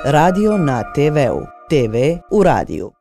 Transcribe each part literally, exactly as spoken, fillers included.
Radio na te veu, te ve u radiju.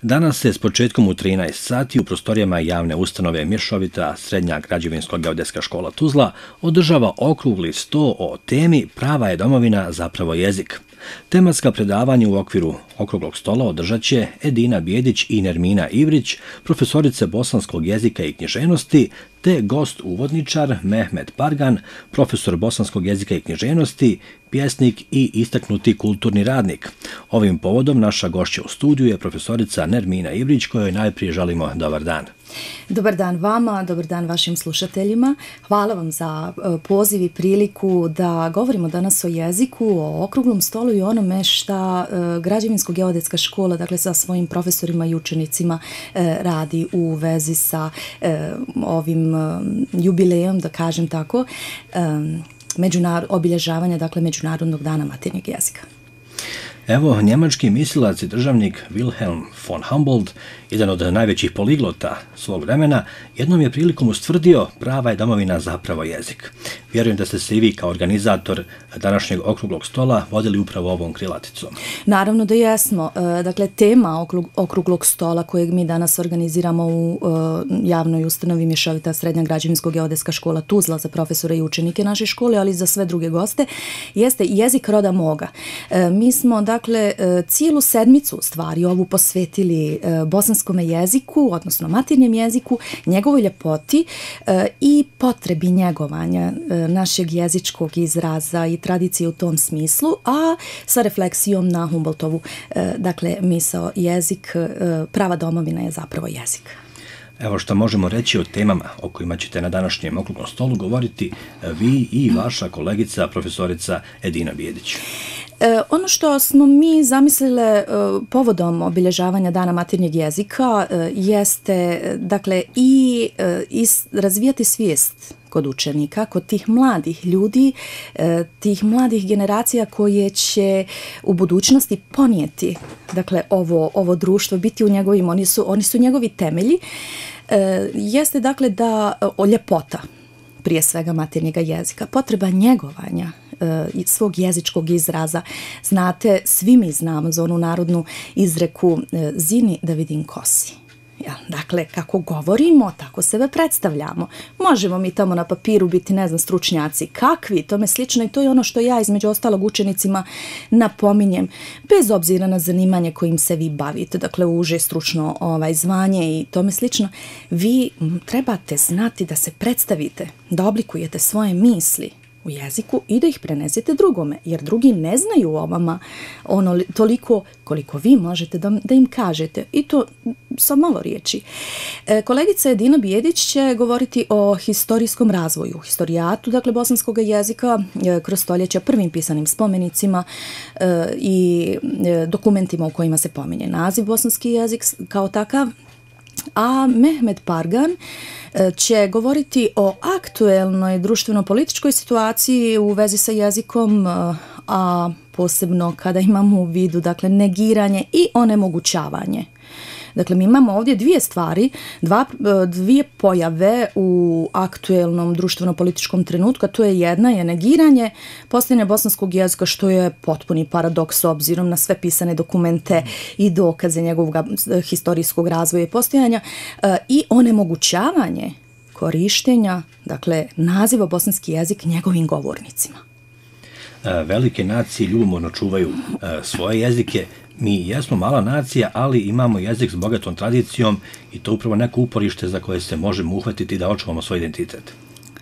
Danas se s početkom u trinaest sati u prostorijama javne ustanove Mješovita Srednja građevinsko-geodetska škola Tuzla održava okrugli sto o temi Prava je domovina, zapravo jezik. Tematska predavanja u okviru okruglog stola održat će Edina Bijedić i Nermina Ivrić, profesorice bosanskog jezika i književnosti, te gost uvodničar Mehmet Pargan, profesor bosanskog jezika i književnosti, pjesnik i istaknuti kulturni radnik. Ovim povodom naša gošća u studiju je profesorica Nermina Ivrić, kojoj najprije želimo dobar dan. Dobar dan vama, dobar dan vašim slušateljima. Hvala vam za poziv i priliku da govorimo danas o jeziku, o okruglom stolu i onome šta građevinsko-geodetska škola, dakle sa svojim profesorima i učenicima radi u vezi sa ovim jubilejom, da kažem tako, međunar- obilježavanja, dakle, Međunarodnog dana maternjeg jezika. Evo, njemački mislilac i državnik Wilhelm von Humboldt, jedan od najvećih poliglota svog vremena, jednom je prilikom ustvrdio prava je domovina, zapravo jezik. Vjerujem da ste se i vi kao organizator današnjeg okruglog stola vodili upravo ovom krilaticom. Naravno da jesmo. Dakle, tema okruglog stola kojeg mi danas organiziramo u javnoj ustanovi Mješovita Srednja građevinsko-geodetska škola Tuzla za profesore i učenike naše škole, ali i za sve druge goste, jeste jezik roda moga. Mi smo, dakle, cijelu sedmicu stvari ovu posvetili bosanskom jeziku, odnosno maternjem jeziku, njegovoj ljepoti i potrebi njegovanja našeg jezičkog izraza i tradicije u tom smislu, a sa refleksijom na Humboldtovu, dakle, misao jezik, prava domovina je zapravo jezik. Evo što možemo reći o temama o kojima ćete na današnjem okruglom stolu govoriti vi i vaša kolegica, profesorica Edina Bijedić. E, ono što smo mi zamislile e, povodom obilježavanja Dana maternjeg jezika e, jeste, dakle, i, e, i razvijati svijest kod učenika, kod tih mladih ljudi, e, tih mladih generacija koje će u budućnosti ponijeti, dakle, ovo, ovo društvo, biti u njegovim, oni su, oni su njegovi temelji, e, jeste, dakle, da o ljepota prije svega maternjega jezika, potreba njegovanja i svog jezičkog izraza. Znate, svi mi znamo za onu narodnu izreku zini da vidim kosi. Ja, dakle, kako govorimo, tako sebe predstavljamo. Možemo mi tamo na papiru biti, ne znam, stručnjaci kakvi, tome slično, i to je ono što ja između ostalog učenicima napominjem, bez obzira na zanimanje kojim se vi bavite, dakle uže stručno ovaj, zvanje i tome slično, vi trebate znati da se predstavite, da oblikujete svoje misli u jeziku i da ih prenesete drugome, jer drugi ne znaju o vama ono toliko koliko vi možete da, da im kažete, i to sa malo riječi. E, kolegica Edina Bijedić će govoriti o historijskom razvoju, historijatu, dakle, bosanskog jezika e, kroz stoljeća, prvim pisanim spomenicima e, i e, dokumentima u kojima se pominje naziv bosanski jezik kao takav. A Mehmet Pargan će govoriti o aktuelnoj društveno-političkoj situaciji u vezi sa jezikom, a posebno kada imamo u vidu, dakle, negiranje i onemogućavanje. Dakle, mi imamo ovdje dvije stvari, dva, dvije pojave u aktuelnom društveno-političkom trenutku, a to je jedna je negiranje postojanja bosanskog jezika, što je potpuni paradoks s obzirom na sve pisane dokumente i dokaze njegovog historijskog razvoja i postojanja, i onemogućavanje korištenja, dakle, naziva bosanski jezik njegovim govornicima. Velike nacije ljubomorno čuvaju svoje jezike. Mi jesmo mala nacija, ali imamo jezik s bogatom tradicijom i to upravo neko uporište za koje se možemo uhvatiti da očuvamo svoj identitet.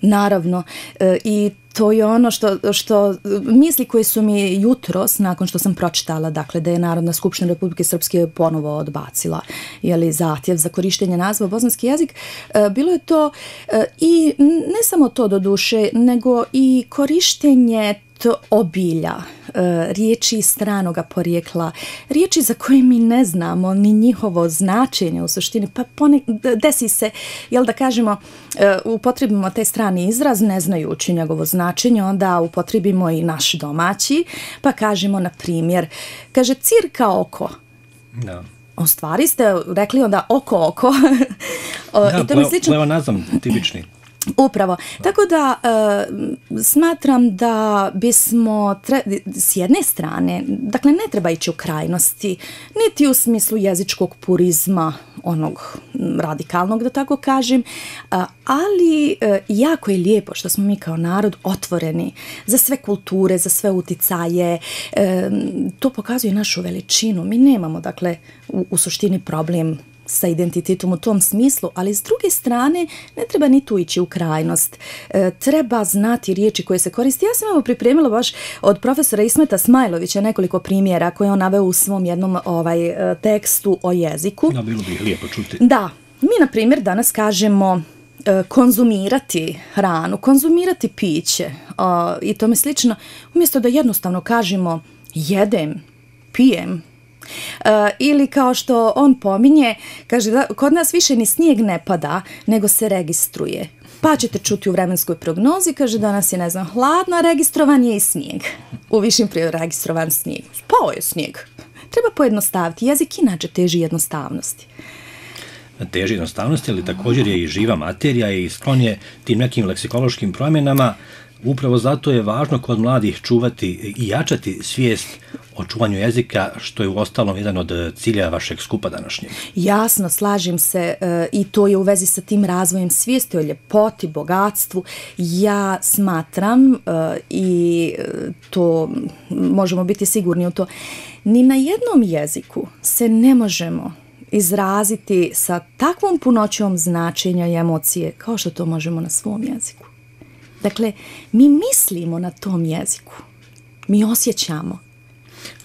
Naravno, e, i to je ono što, što misli koje su mi jutros, nakon što sam pročitala, dakle, da je Narodna skupština Republike Srpske ponovo odbacila, jeli, zahtjev za korištenje naziva bosanski jezik, e, bilo je to e, i ne samo to do duše, nego i korištenje obilja, riječi stranoga porijekla, riječi za koje mi ne znamo ni njihovo značenje u suštini, pa pone, desi se, jel da kažemo, upotrebimo taj strani izraz ne znajući njegovo značenje, onda upotrebimo i naš domaći, pa kažemo, na primjer, kaže cirka oko. Da. U stvari ste rekli onda oko oko. Da, i to mi slično... pleonazam tipični. Upravo. Tako da e, smatram da bismo tre, s jedne strane, dakle ne treba ići u krajnosti, niti u smislu jezičkog purizma, onog radikalnog da tako kažem, ali e, jako je lijepo što smo mi kao narod otvoreni za sve kulture, za sve uticaje. E, to pokazuje našu veličinu. Mi nemamo dakle u, u suštini problem sa identitetom u tom smislu, ali s druge strane ne treba ni tu ići u krajnost. E, treba znati riječi koje se koriste. Ja sam evo pripremila baš od profesora Ismeta Smajlovića nekoliko primjera koje on naveo u svom jednom ovaj tekstu o jeziku. Da, bilo bi lijepo čuti. Da, mi na primjer danas kažemo e, konzumirati hranu, konzumirati piće o, i tome slično, umjesto da jednostavno kažemo jedem, pijem, Uh, ili kao što on pominje, kaže da kod nas više ni snijeg ne pada, nego se registruje. Pa ćete čuti u vremenskoj prognozi, kaže danas je, ne znam, hladno, a registrovan je i snijeg. U višim prije registrovan snijeg. Spao je snijeg. Treba pojednostaviti. Jezik inače teži jednostavnosti. Teži jednostavnosti, ali također je i živa materija i sklon je tim nekim leksikološkim promjenama. Upravo zato je važno kod mladih čuvati i jačati svijest o čuvanju jezika, što je uostalom jedan od cilja vašeg skupa današnjeg. Jasno, slažem se e, i to je u vezi sa tim razvojem svijesti o ljepoti, bogatstvu. Ja smatram e, i to možemo biti sigurni u to, ni na jednom jeziku se ne možemo izraziti sa takvom punoćom značenja i emocije kao što to možemo na svom jeziku. Dakle, mi mislimo na tom jeziku, mi osjećamo.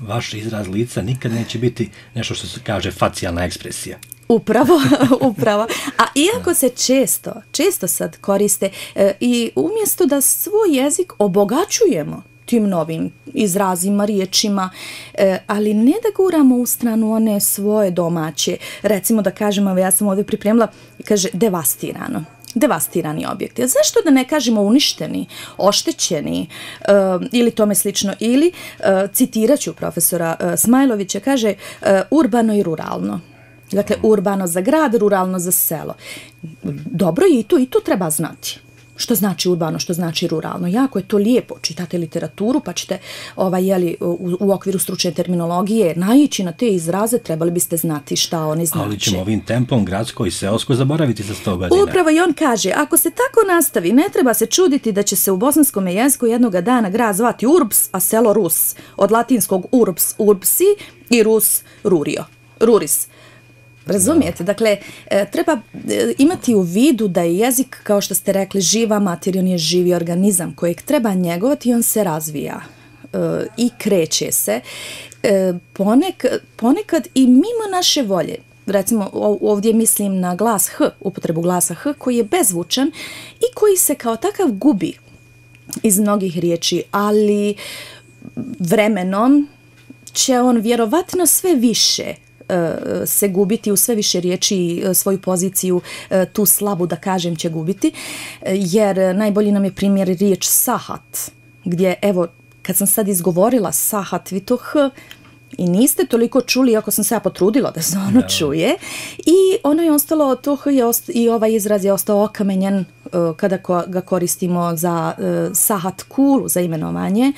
Vaš izraz lica nikad neće biti nešto što se kaže facijalna ekspresija. Upravo, upravo. A iako se često, često sad koriste e, i umjesto da svoj jezik obogaćujemo tim novim izrazima, riječima, e, ali ne da guramo u stranu one svoje domaće. Recimo da kažemo, ja sam ovdje pripremila, kaže devastirano. Devastirani objekti. A zašto da ne kažemo uništeni, oštećeni uh, ili tome slično? Ili, uh, citirat ću profesora uh, Smajlovića, kaže uh, urbano i ruralno. Dakle, urbano za grad, ruralno za selo. Dobro je i to, i to treba znati. Što znači urbano, što znači ruralno. Jako je to lijepo. Čitate literaturu pa ćete ovaj, jeli, u, u okviru stručne terminologije naići na te izraze, trebali biste znati šta oni znači. Ali ćemo ovim tempom gradsko i seosko zaboraviti za sto godina. Upravo i on kaže, ako se tako nastavi, ne treba se čuditi da će se u bosanskom jeziku jednoga dana grad zvati Urbs, a selo Rus. Od latinskog Urbs, Urbsi i Rus, Rurio. Ruris. Razumijete? Dakle, treba imati u vidu da je jezik, kao što ste rekli, živa materija, on je živi organizam kojeg treba njegovati i on se razvija i kreće se. Ponekad, ponekad i mimo naše volje. Recimo, ovdje mislim na glas H, upotrebu glasa H, koji je bezvučan i koji se kao takav gubi iz mnogih riječi, ali vremenom će on vjerovatno sve više se gubiti u sve više riječi, svoju poziciju, tu slabu da kažem će gubiti, jer najbolji nam je primjer riječ sahat, gdje evo kad sam sad izgovorila sahat, vi to H i niste toliko čuli, ako sam se ja potrudila da se ono čuje, i ono je ostalo, to H je osta, i ovaj izraz je ostao okamenjen kada ga koristimo za sahat kulu, za imenovanje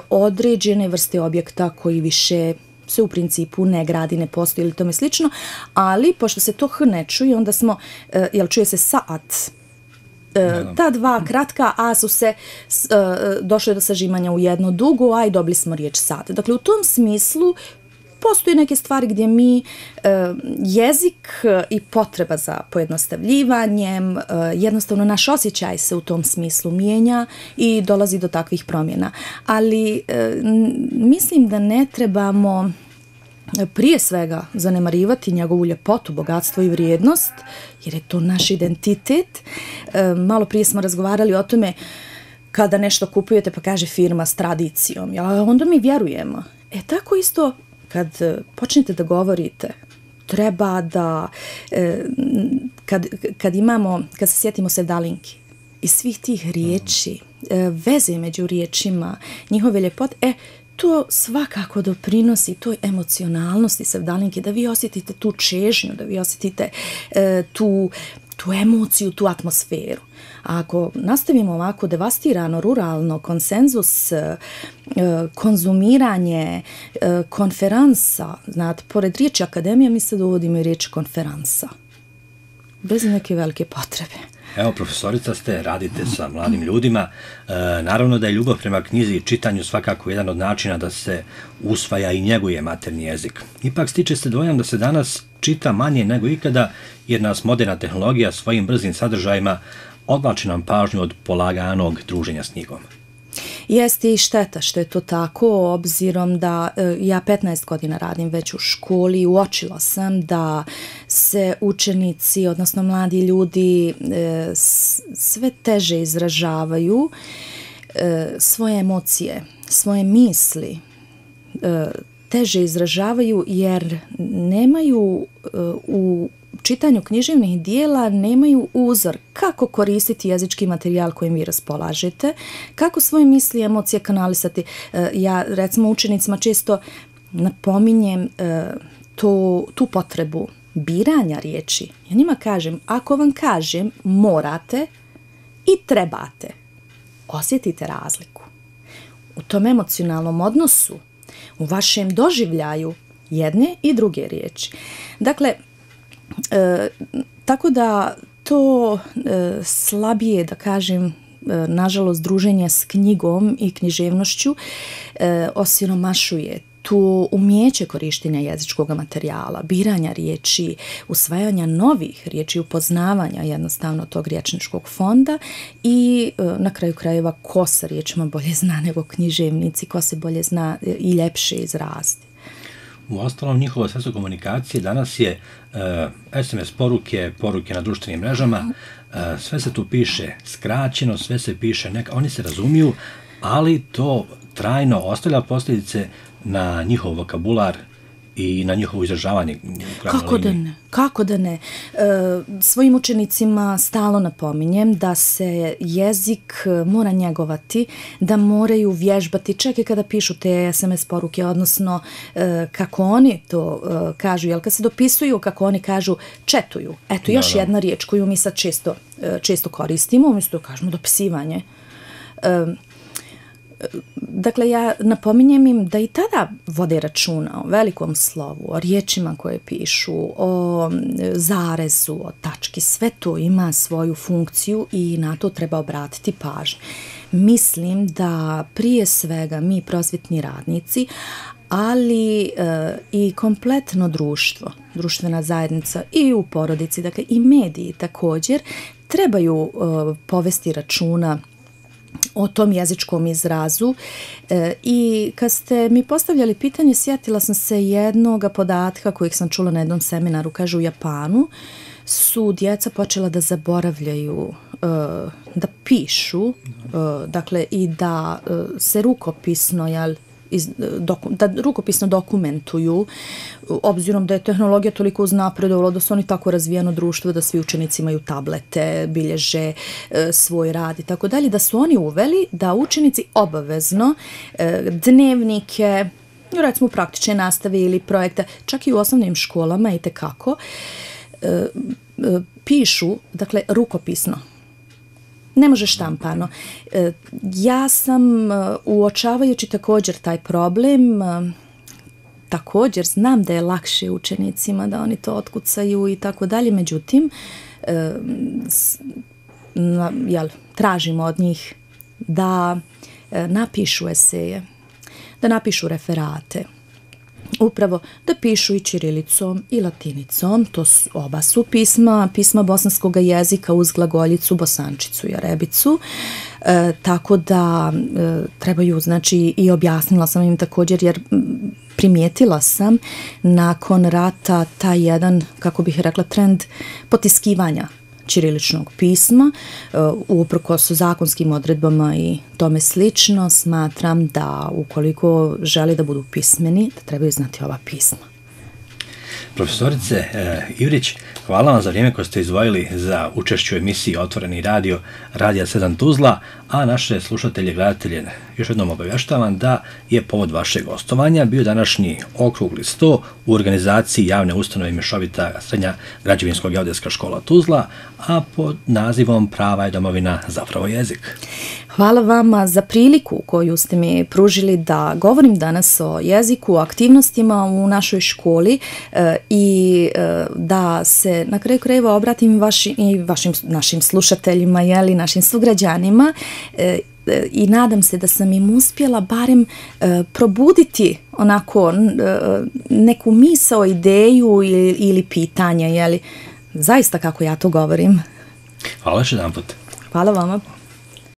određene vrste objekta koji više se u principu ne gradi, ne postoji ili tome slično, ali pošto se to H ne čuje, onda smo, uh, jel čuje se saat, uh, ta dva kratka A su se uh, došle do sažimanja u jedno dugo, a i dobili smo riječ sat. Dakle, u tom smislu postoji neke stvari gdje mi uh, jezik i potreba za pojednostavljivanjem, uh, jednostavno naš osjećaj se u tom smislu mijenja i dolazi do takvih promjena. Ali uh, mislim da ne trebamo prije svega zanemarivati njegovu ljepotu, bogatstvo i vrijednost, jer je to naš identitet. Uh, malo prije smo razgovarali o tome kada nešto kupujete pa kaže firma s tradicijom, ja, onda mi vjerujemo. E tako isto kad počnete da govorite, treba da, kad, kad imamo, kad se sjetimo sevdalinki i svih tih riječi, veze među riječima, njihove ljepote, e, to svakako doprinosi toj emocionalnosti sevdalinke, da vi osjetite tu čežnju, da vi osjetite tu, tu emociju, tu atmosferu. A ako nastavimo ovako devastirano, ruralno, konsenzus, e, konzumiranje, e, konferansa, znate, pored riječi akademija mi se dovodimo i riječi konferansa. Bez neke velike potrebe. Evo, profesorica ste, radite sa mladim ljudima. E, naravno da je ljubav prema knjizi i čitanju svakako jedan od načina da se usvaja i njeguje maternji jezik. Ipak stiče se dojam da se danas čita manje nego ikada, jer nas moderna tehnologija svojim brzim sadržajima odvlači nam pažnju od polaganog druženja s knjigom. Jeste i šteta što je to tako, obzirom da e, ja petnaest godina radim već u školi i uočila sam da se učenici, odnosno mladi ljudi, e, s, sve teže izražavaju e, svoje emocije, svoje misli, e, teže izražavaju jer nemaju e, u čitanju književnih dijela nemaju uzor kako koristiti jezički materijal kojim vi raspolažete, kako svoje misli i emocije kanalisati. Ja, recimo, učenicima često napominjem to, tu potrebu biranja riječi. Ja njima kažem, ako vam kažem morate i trebate, osjetite razliku. U tom emocionalnom odnosu, u vašem doživljaju jedne i druge riječi. Dakle, E, tako da to e, slabije, da kažem, e, nažalost, druženje s knjigom i književnošću e, osiromašuje tu umjeće korištenja jezičkog materijala, biranja riječi, usvajanja novih riječi, upoznavanja jednostavno tog riječničkog fonda i e, na kraju krajeva ko sa riječima bolje zna nego književnici, ko se bolje zna i ljepše izraziti. U ostalom, njihova sredstvo komunikacije danas je uh, es em es poruke, poruke na društvenim mrežama, uh, sve se tu piše skraćeno, sve se piše neka, oni se razumiju, ali to trajno ostavlja posljedice na njihov vokabular i na njihovo izražavanje. Kako da ne? Kako da ne? E, svojim učenicima stalno napominjem da se jezik mora njegovati, da moraju vježbati, čak i kada pišu te es em es poruke, odnosno e, kako oni to e, kažu, jel kad se dopisuju, kako oni kažu, četuju. Eto, još da, da. jedna riječ koju mi sad često, e, često koristimo, umjesto da kažemo dopisivanje. E, Dakle, ja napominjem im da i tada vode računa o velikom slovu, o riječima koje pišu, o zarezu, o tački. Sve to ima svoju funkciju i na to treba obratiti pažnju. Mislim da prije svega mi prosvjetni radnici, ali e, i kompletno društvo, društvena zajednica i u porodici, dakle i mediji također, trebaju e, povesti računa o tom jezičkom izrazu e, i kad ste mi postavljali pitanje, sjetila sam se jednog podatka kojeg sam čula na jednom seminaru, kaže u Japanu su djeca počela da zaboravljaju e, da pišu, e, dakle i da e, se rukopisno, jel, iz, doku, da rukopisno dokumentuju, obzirom da je tehnologija toliko uznapredovala da su oni tako razvijeno društvo da svi učenici imaju tablete, bilježe e, svoj rad i tako dalje, da su oni uveli da učenici obavezno e, dnevnike, recimo praktične nastave ili projekte, čak i u osnovnim školama i tekako, e, e, pišu, dakle, rukopisno. Ne može štampano. E, ja sam, e, uočavajući također taj problem, e, također znam da je lakše učenicima da oni to otkucaju i tako dalje, međutim, e, s, na, jel, tražimo od njih da e, napišu eseje, da napišu referate, upravo da pišu i ćirilicom i latinicom, to su, oba su pisma, pisma bosanskog jezika uz glagoljicu, bosančicu i arebicu, e, tako da e, trebaju, znači, i objasnila sam im također, jer primijetila sam nakon rata taj jedan, kako bih rekla, trend potiskivanja ćiriličnog pisma, uprkos zakonskim odredbama i tome slično, smatram da ukoliko želi da budu pismeni, da trebaju znati ova pisma. Profesorice e, Ivrić, hvala vam za vrijeme koje ste izdvojili za učešću u emisiji Otvoreni radio Radija sedam Tuzla, a naše slušatelje i gledatelje još jednom obavještavam da je povod vašeg gostovanja bio današnji okrugli sto u organizaciji javne ustanove Mješovita srednja građevinsko-geodetska škola Tuzla, a pod nazivom Prava je domovina zapravo jezik. Hvala vama za priliku koju ste mi pružili da govorim danas o jeziku, o aktivnostima u našoj školi e, i e, da se na kraju krajeva obratim vaši, i vašim našim slušateljima, jeli, našim sugrađanima e, e, i nadam se da sam im uspjela barem e, probuditi onako e, neku misao, ideju ili, ili pitanje, jeli, zaista kako ja to govorim. Hvala još jedan put. Hvala vama.